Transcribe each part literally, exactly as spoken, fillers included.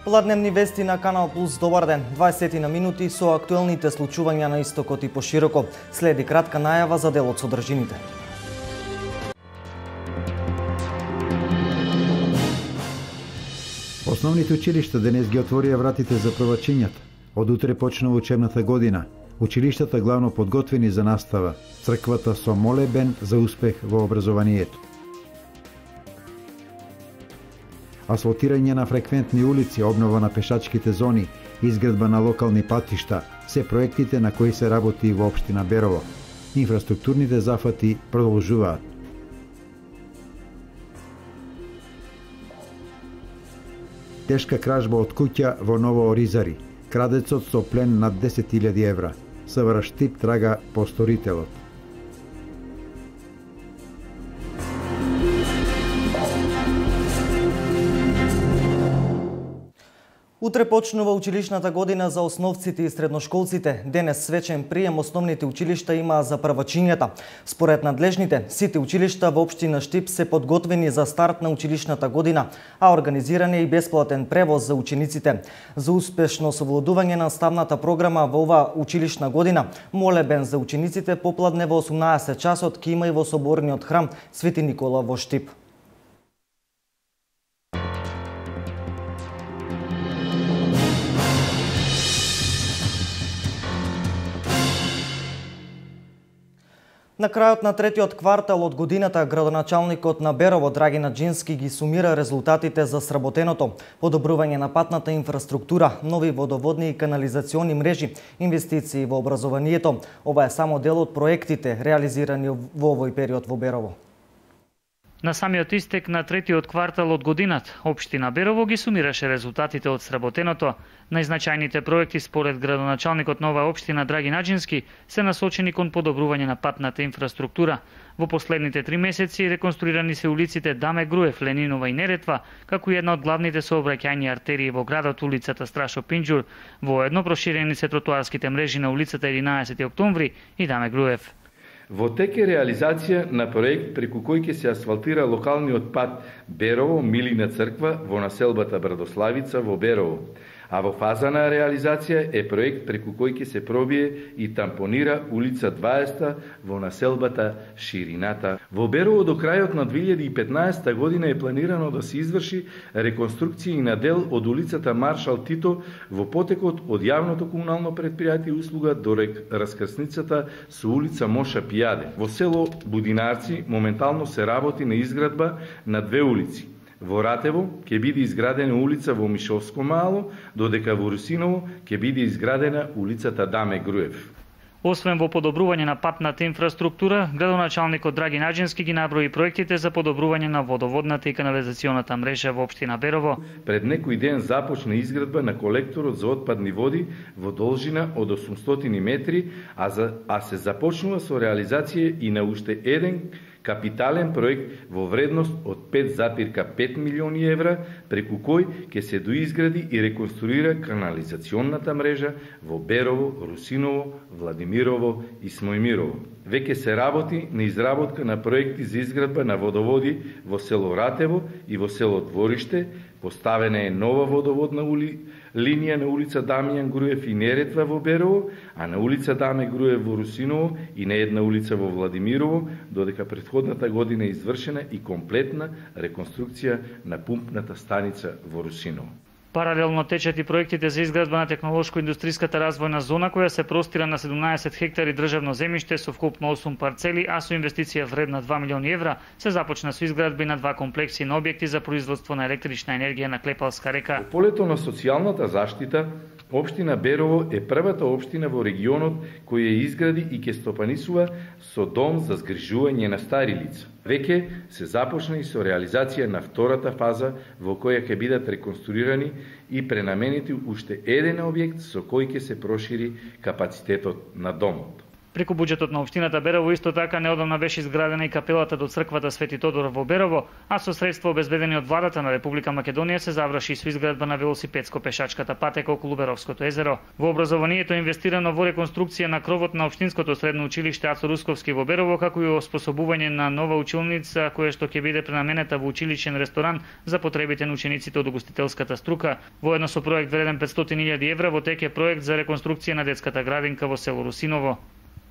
Пладневни вести на Канал Плюс, добар ден. дваесет на минути со актуелните случувања на истокот и пошироко. Следи кратка најава за делот содржините. Основните училишта денес ги отворија вратите за првачињата. Од утре почнува учебната година. Училиштата главно подготвени за настава. Црквата со молебен за успех во образованието. Асфалтирање на фреквентни улици, обнова на пешачките зони, изградба на локални патишта, се проектите на кои се работи во општина Берово. Инфраструктурните зафати продолжуваат. Тешка кражба од куќа во Ново Оризари. Крадецот со плен над десет илјади евра. СВР Штип трага по сторителот. Утре почнува училишната година за основците и средношколците. Денес свечен прием основните училишта има за првачињата. Според надлежните, сите училишта во општина Штип се подготвени за старт на училишната година, а организиран е и бесплатен превоз за учениците. За успешно совладување на наставната програма во оваа училишна година, молебен за учениците попладне во осумнаесет часот ќе има и во соборниот храм Свети Никола во Штип. На крајот на третиот квартал од годината, градоначалникот на Берово Драги Наџински ги сумира резултатите за сработеното: подобрување на патната инфраструктура, нови водоводни и канализациони мрежи, инвестиции во образованието. Ова е само дел од проектите реализирани во овој период во Берово. На самиот истек на третиот квартал од годината, општина Берово ги сумираше резултатите од сработеното. Најзначајните проекти според градоначалникот на оваа општина Драги Наџински се насочени кон подобрување на патната инфраструктура. Во последните три месеци реконструирани се улиците Даме Груев, Ленинова и Неретва, како и една од главните сообраќајни артерии во градот, улицата Страшо Пинџур. Воедно проширени се тротоарските мрежи на улицата единаесети октомври и Даме Груев. Во тек е реализација на проект преку кој ќе се асфалтира локалниот пат Берово Милина црква во населбата Брадославица во Берово, а во фаза на реализација е проект преку кој ќе се пробие и тампонира улица дваесета во населбата Ширината. Во Берово до крајот на две илјади и петнаесета година е планирано да се изврши реконструкција на дел од улицата Маршал Тито во потекот од јавното комунално претпријатие услуга до раскрсницата со улица Моша Пијаде. Во село Будинарци моментално се работи на изградба на две улици. Во Ратево ќе биде изградена улица во Мишовско мало, додека во Русиново ќе биде изградена улицата Даме Груев. Освен во подобрување на патната инфраструктура, градоначалникот Драги Наџински ги наброи проектите за подобрување на водоводната и канализационата мрежа во општина Берово. Пред некој ден започна изградба на колекторот за отпадни води во должина од осумстотини метри, а, за, а се започнува со реализација и на уште еден капитален проект во вредност од пет запирка пет милиони евра, преку кој ќе се доизгради и реконструира канализационната мрежа во Берово, Русиново, Владимирово и Смојмирово. Веќе се работи на изработка на проекти за изградба на водоводи во село Ратево и во село Двориште, поставена е нова водоводна ули... линија на улица Дамјан Груев и Неретва во Берово, а на улица Даме Груев во Русиново и на една улица во Владимирово, додека претходната година е извршена и комплетна реконструкција на пумпната станица во Русиново. Паралелно течат и проектите за изградба на технолошко-индустријската развојна зона, која се простира на седумнаесет хектари државно земјиште со вкупно осум парцели, а со инвестиција вредна два милиони евра, се започна со изградби на два комплекси на објекти за производство на електрична енергија на Клепалска река. Во полето на социјалната заштита, општина Берово е првата општина во регионот која ја изгради и ќе стопанисува со дом за згрижување на стари лица. Веќе се започна и со реализација на втората фаза во која ќе бидат реконструирани и пренаменети уште еден објект со кој ќе се прошири капацитетот на домот. Преку буџетот на општината Берово исто така неодамна беше изградена и капелата до црквата Свети Тодор во Берово, а со средства обезбедени од владата на Република Македонија се заврши со изградба на велосипедско-пешачката патека околу Беровското езеро. Во образованието е инвестирано во реконструкција на кровот на општинското средно училиште Ацо Русковски во Берово, како и оспособување на нова училница која што ќе биде пренаменета во училишен ресторан за потребите на учениците од угостителската струка. Воедно со проект вреден петстотини илјади евра во тек е проект за реконструкција на детската градинка во село Русиново.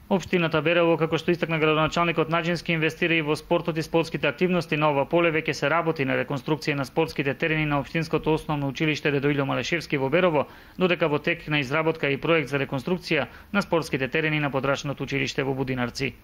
Општината Берово, како што истакна градоначалникот Наџински, инвестира и во спортот и спортските активности. На ова поле веќе се работи на реконструкција на спортските терени на општинското основно училиште Дедо Илјо Малешевски во Берово, додека во тек на изработка и проект за реконструкција на спортските терени на подрачното училиште во Будинарци.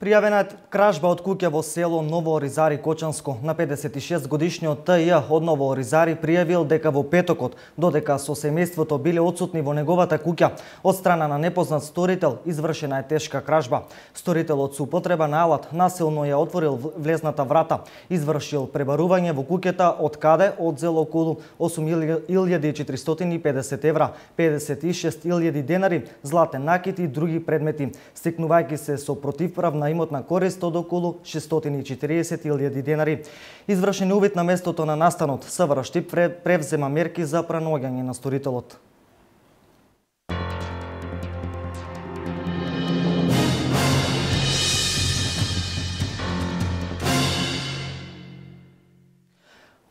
Пријавена е кражба од куќа во село Ново Оризари Кочанско. На педесет и шест годишниот Т Ј од Ново Оризари пријавил дека во петокот, додека со семејството биле отсутни во неговата куќа, од страна на непознат сторител извршена е тешка кражба. Сторителот со употреба на алат насилно ја отворил влезната врата, извршил пребарување во куќата, од каде одзел околу осум илјади и четиристотини и педесет евра, педесет и шест илјади денари, златен накит и други предмети, стекнувајќи се со противправна имотна корист од околу шестстотини и четириесет илјади денари. Извршен увид на местото на настанот, СВР Штип превзема мерки за пронаоѓање на сторителот.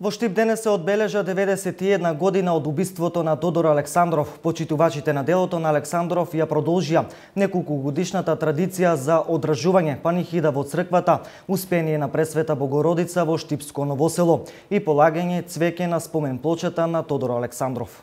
Во Штип денес се одбележа деветдесет и една година од убиството на Тодор Александров. Почитувачите на делото на Александров ја продолжија неколку годишната традиција за одржување панихида во црквата, успение на Пресвета Богородица во Штипско Новосело и полагање цвеќе на спомен плочата на Тодор Александров.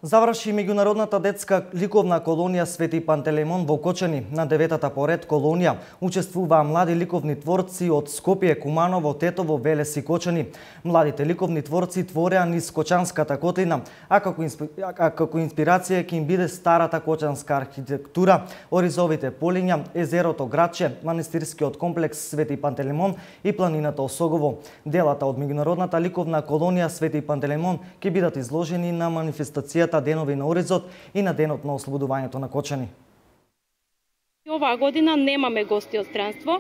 Заврши меѓународната детска ликовна колонија Свети Пантелеймон во Кочани. На деветата поред колонија учествуваа млади ликовни творци од Скопје, Куманово, Тетово, Велес и Кочани. Младите ликовни творци твореа низ Кочанската котлина, а како, инспи... а како инспирација ќе им биде старата кочанска архитектура, оризовите полиња, езерото Градче, манастирскиот комплекс Свети Пантелеймон и планината Осогово. Делата од меѓународната ликовна колонија Свети Пантелеймон ќе бидат изложени на манифестацијата Денови на Оризот и на Денот на ослободувањето на Кочани. Оваа година немаме гости од странство.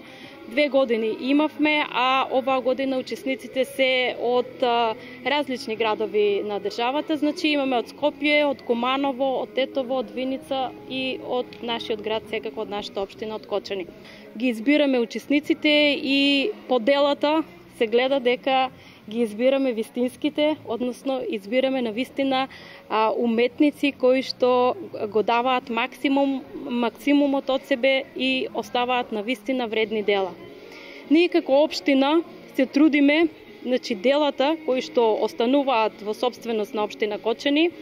Две години имавме, а оваа година учесниците се од а, различни градови на државата. Значи имаме од Скопје, од Куманово, од Тетово, од Виница и од нашиот град, секако од нашата општина, од Кочани. Ги избираме учесниците и по делата се гледа дека ги избираме вистинските, односно избираме на вистина а, уметници кои што го даваат максимум, максимумот од себе и оставаат на вистина вредни дела. Ние како општина се трудиме, значи делата кои што остануваат во собственост на општина Кочани,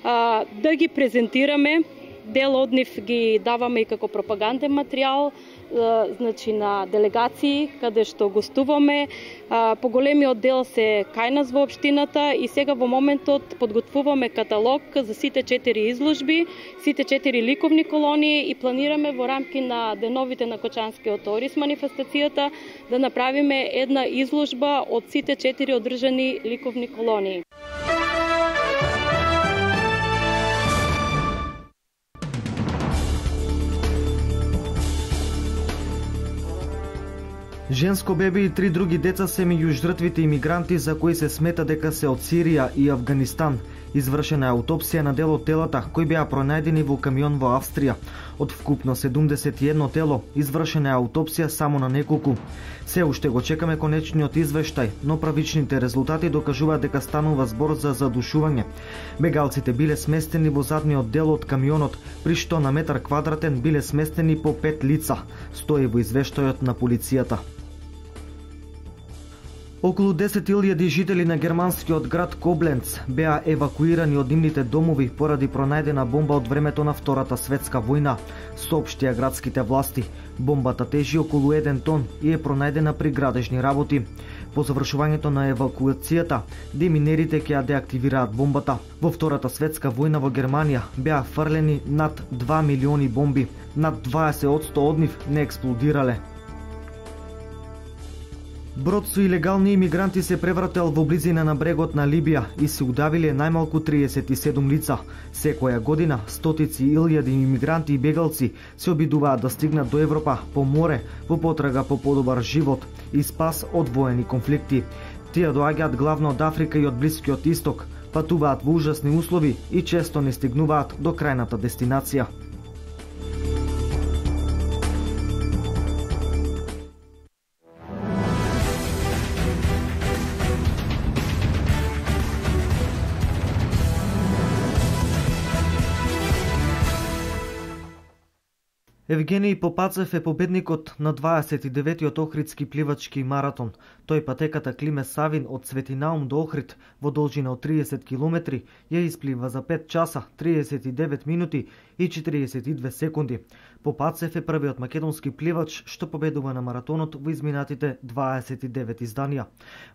а, да ги презентираме. Дел од нив ги даваме и како пропаганден материјал, значи на делегации каде што гостуваме. Поголемиот дел се кај нас во општината и сега во моментот подготвуваме каталог за сите четири изложби, сите четири ликовни колонии и планираме во рамки на деновите на Кочанскиот Ориз манифестацијата да направиме една изложба од сите четири одржани ликовни колонии. Женско бебе и три други деца се меѓу жртвите имигранти за кои се смета дека се од Сирија и Авганистан. Извршена е аутопсија на дел од телата кои беа пронајдени во камион во Австрија. Од вкупно седумдесет и едно тело, извршена е аутопсија само на неколку. Се уште го чекаме конечниот извештај, но правичните резултати докажуваат дека станува збор за задушување. Бегалците биле сместени во задниот дел од камионот, при што на метар квадратен биле сместени по пет лица, стои во извештајот на полицијата. Околу десет илјади жители на германскиот град Кобленц беа евакуирани од нивните домови поради пронајдена бомба од времето на Втората светска војна, соопштија градските власти. Бомбата тежи околу еден тон и е пронајдена при градежни работи. По завршувањето на евакуацијата, деминерите ќе ја деактивираат бомбата. Во Втората светска војна во Германија беа фрлени над два милиони бомби, над дваесет одсто од нив не експлодирале. Брод со илегални имигранти се преврател во близина на брегот на Либија и се удавиле најмалку триесет и седум лица. Секоја година стотици илјади имигранти и бегалци се обидуваат да стигнат до Европа по море во потрага по подобар живот и спас од воени конфликти. Тие доаѓаат главно од Африка и од Блискиот Исток, патуваат во ужасни услови и често не стигнуваат до крајната дестинација. Евгений Попацев е победникот на дваесет и деветиот Охридски пливачки маратон. Тој патеката Климе Савин од Светинаум до Охрид во должина од триесет километри ја исплива за пет часа, триесет и девет минути и четириесет и две секунди. Попацев е првиот македонски пливач што победува на маратонот во изминатите дваесет и девет изданија.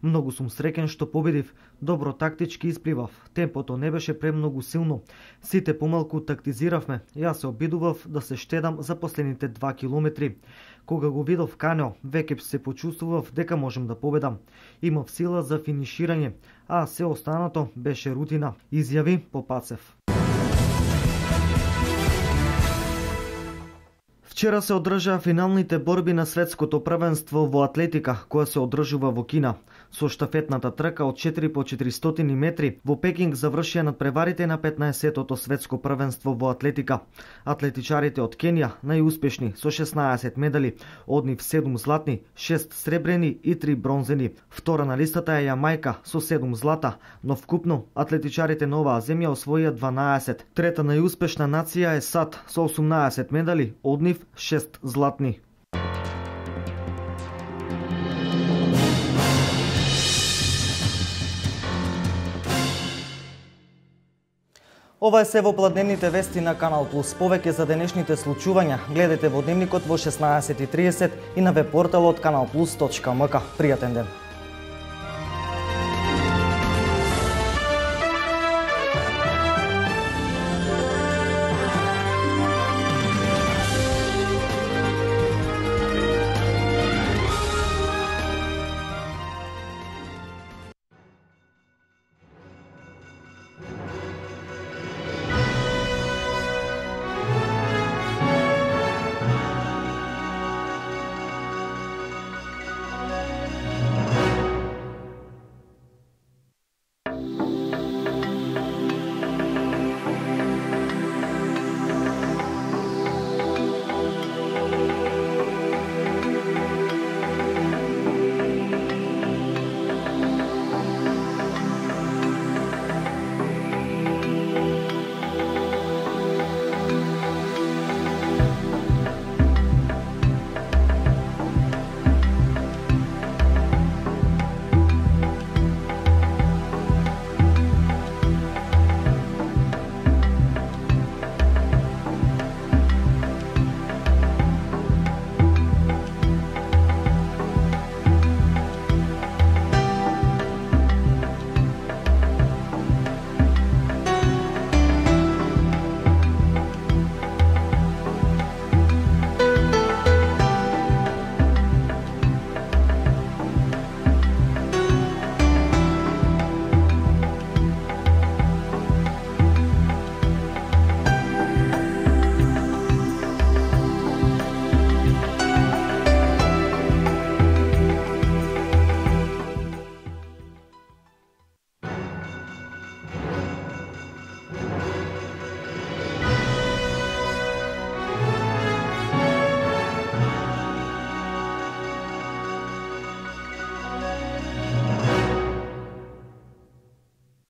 Многу сум среќен што победив, добро тактички испливав, темпото не беше премногу силно. Сите помалку тактизиравме, јас се обидував да се штедам за последните два километри. Кога го видов Канео, веќе се почувствував дека можем да победам. Имав сила за финиширање, а се останато беше рутина, изјави Попацев. Вчера се одржаа финалните борби на светското првенство во атлетика, која се одржува во Кина. Со штафетната трка од четири по четиристотини метри во Пекинг завршија надпреварите на петнаесеттото светско првенство во атлетика. Атлетичарите од Кенија најуспешни со шеснаесет медали, од нив седум златни, шест сребрени и три бронзени. Втора на листата е Јамајка со седум злата, но вкупно атлетичарите на оваа земја освоија дванаесет. Трета најуспешна нација е САД со осумнаесет медали, од нив шест златни. Ова е се во пладневните вести на Канал Плюс. Повеќе за денешните случувања гледате во Дневникот во шеснаесет и тридесет и на веб порталот канал плюс точка ем ка. Пријатен ден!